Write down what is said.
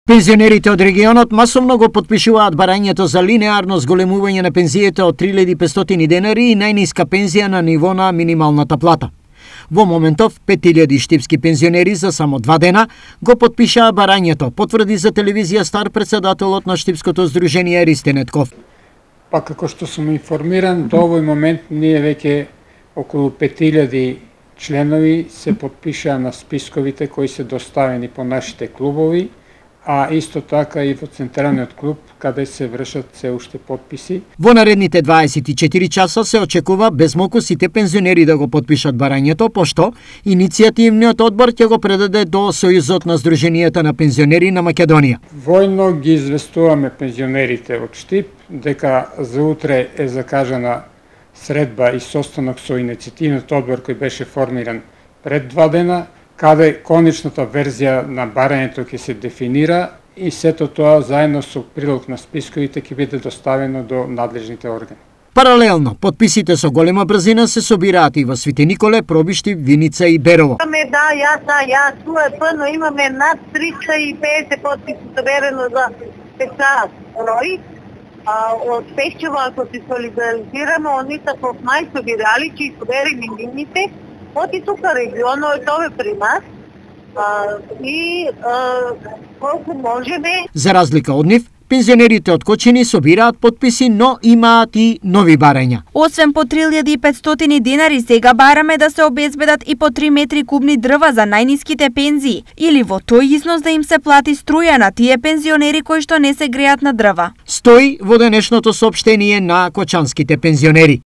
Пензионерите од регионот масовно го потпишуваат барањето за линеарно зголемување на пензиите од 3500 денари и најниска пензија на ниво на минималната плата. Во моментов 5000 штипски пензионери за само 2 дена го потпишаа барањето, потврди за телевизија Стар председателот на Штипското здружение Ристе Нетков. Па како што сум информиран, до овој момент ние веќе околу 5000 членови се потпишаа на списковите кои се доставени по нашите клубови, а исто така и во централниот клуб, каде се вршат се уште потписи. Во наредните 24 часа се очекува безмалку сите пензионери да го потпишат барањето, пошто иницијативниот одбор ќе го предаде до Сојузот на Здруженијата на пензионери на Македонија. Војно ги известуваме пензионерите од Штип дека за утре е закажана средба и состанок со иницијативниот одбор кој беше формиран пред 2 дена, каде конечната верзија на барањето ќе се дефинира и сето тоа заедно со прилог на списковите ќе биде доставено до надлежните органи. Паралелно, потписите со голема брзина се собираат и во Свети Николе, Пробишти, Виница и Берово. Јас, туа е пъно, имаме над 350 потписи соберено за печат број. Од Пешчево, ако се солидаризираме, они са во мај собирали, че собери минимите, и тука регионот е при нас и колку можеме. За разлика од нив, пензионерите од Кочини собираат потписи, но имаат и нови барања. Освен по 3500 денари, сега бараме да се обезбедат и по 3 метри кубни дрва за најниските пензии, или во тој износ да им се плати струја на тие пензионери кои што не се греат на дрва. Стои во денешното соопштение на кочанските пензионери.